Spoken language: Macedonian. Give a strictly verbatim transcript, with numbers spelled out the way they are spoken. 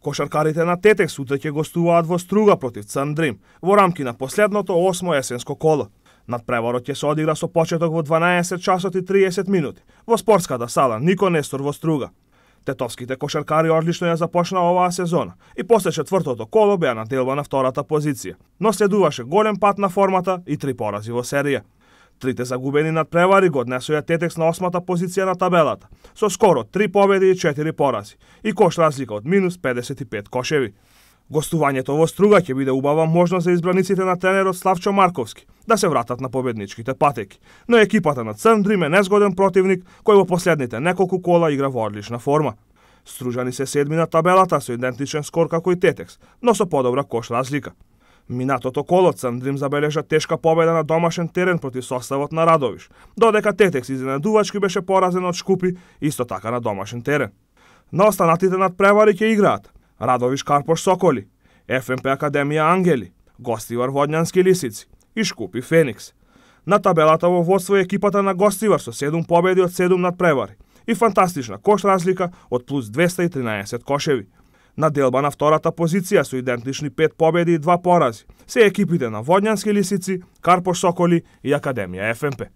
Кошаркарите на Тетекс утре ќе гостуваат во Струга против Црн Дрим во рамки на последното осмо есенско коло. Надпреварот ќе се одигра со почеток во дванаесет часот и триесет минути во спортската сала Нико Нестор во Струга. Тетовските кошаркари одлично ја започнаа оваа сезона и после четвртото коло беа на делба на втората позиција, но следуваше голем пат на формата и три порази во серија. Трите загубени надпревари го однесоа Тетекс на осмата позиција на табелата, со скоро три победи и четири порази, и кош разлика од минус педесет и пет кошеви. Гостувањето во Струга ќе биде убава можност за избраниците на тренерот Славчо Марковски да се вратат на победничките патеки, но екипата на Црн Дрим е незгоден противник кој во последните неколку кола игра во одлична форма. Стружани се седми на табелата со идентичен скор како и Тетекс, но со подобра кош разлика. Минатото коло Црн Дрим забележа тешка победа на домашен терен против составот на Радовиш, додека Тетекс изненадувачки беше поразен од Шкупи, исто така на домашен терен. На останатите надпревари ќе играат Радовиш Карпош Соколи, Еф Ем Пе Академија Ангели, Гостивар Водњански Лисици и Шкупи Феникс. На табелата во водство е екипата на Гостивар со седум победи од седум надпревари и фантастична кош разлика од плюс двеста и тринаесет кошеви. На делба на втората позиција со идентични пет победи и два порази се екипите на Водњански Лисици, Карпош Соколи и Академија Еф Ем Пе.